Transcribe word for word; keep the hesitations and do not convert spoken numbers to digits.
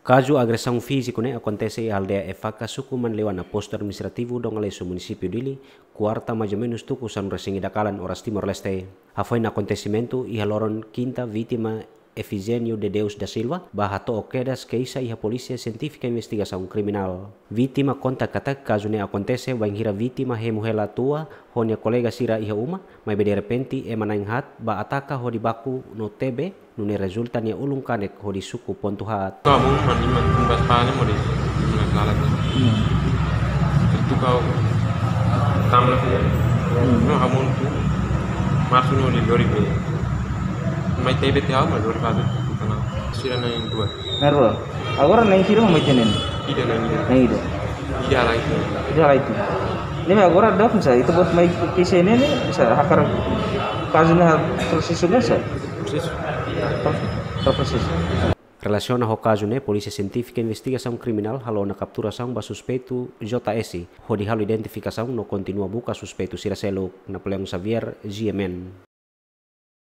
Kazu agresaun fíziku ne'e akontese iha aldeia Efaka, suku Manleuana, postu administrativu Dongalesu, munisípiu Dili, kuarta, mais ou menus tuku sanulu-resin-ida kalan oras Timor-Leste. Hafoin akontesimentu iha loron kinta, vítima Efigênio de Deus da Silva bá hato'o kedas keixa iha Polísia Sientífika Investigasaun Kriminál. Vítima konta katak kazu ne'e akontese bainhira vítima hemu hela tua ho nia kolega sira iha uma, maibé derrepente ema na'in haat bá ataka hodi baku no tebe, nune'e rezulta nia ulun kanek hodi suku pontu haat. Kamu mani man kumbas pani mori. Mani kalat. Hmm. Itu kau tamla. Hmm. No, hamun tu. Masu no di lori be. Mai tebe te au, mai lori be. Sira na'in rua. Na'in rua. Agora na'in rua mai tenen. Ida na'in rua. Na'in rua. Ida lagi. Ida lagi. Ne'e agora dok sa, ita-boot mai ke sini ne'e, sa hakarak kazu ne'e prosesu ne'e sa. Prosesu. Pro-, prosesu. Relasiona ho kazu ne'e, Polísia Sientífika Investigasaun Kriminál halo ona kapturasaun ba suspeitu J S, hodi halo identifikasaun no kontinua buka suspeitu sira seluk. Napoleão Xavier, G M N.